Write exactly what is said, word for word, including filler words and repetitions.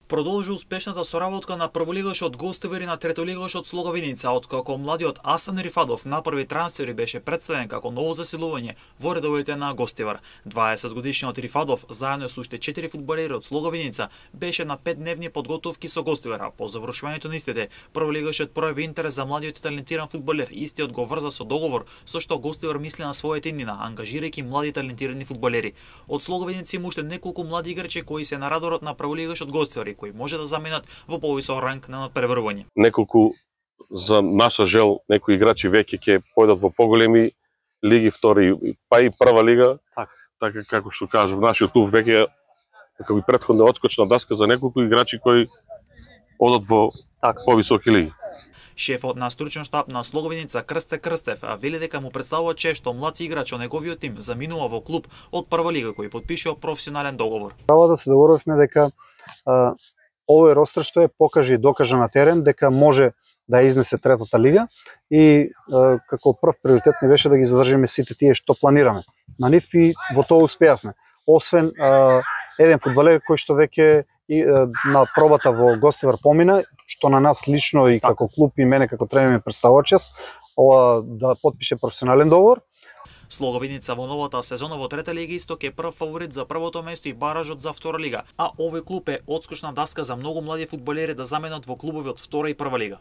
Продолжи успешната соработка на прволигашот Гостивар и на третолигашот Слоговиница, откако младиот Асан Рифадов направи трансфер и беше представен како ново засилување во редовите на Гостивар. дваесет годишниот Рифадов, заедно со уште четири фудбалери од Слоговиница, беше на петдневни подготовки со Гостивар. По завршувањето на истите, прволигашот пројави интерес за младиот и талентиран фудбалер, истиот го врза со договор со што Гостивар мисли на својата иднина, ангажирајќи млади талентирани фудбалери. Од Слоговиница има уште неколку млади играчи кои се на радарот на прволигашот Гостивар, кои може да заменат во повисок ранг на надпреварување. Неколку за наша жел, некои играчи веќе ќе појдат во поголеми лиги, втори, па и прва лига. Так. Така како што кажав, нашиот клуб веќе како и претходна одскочна даска за неколку играчи кои одат во так. Повисоки лиги. Шефот на стручен штаб на Слоговиница Крсте Крстев вели дека му представува чест што млад играч од неговиот тим заминува во клуб од прва лига кој потпишува професионален договор. Право да се договоривме дека а, овој ростер што е покаже и докаже на терен дека може да изнесе третата лига и а, како прв приоритет ни беше да ги задржиме сите тие што планираме. На нив и во тоа успеавме. Освен а, еден фудбалер кој што веќе и а, на пробата во Гостивар помина, што на нас лично и како клуб и мене како тренер ми представува чест, ова да потпише професионален договор. Слоговиница во новата сезона во трета лига Исток е прв фаворит за првото место и баражот за втора лига, а овој клуб е одскочна даска за многу млади фудбалери да заменат во клубови од втора и прва лига.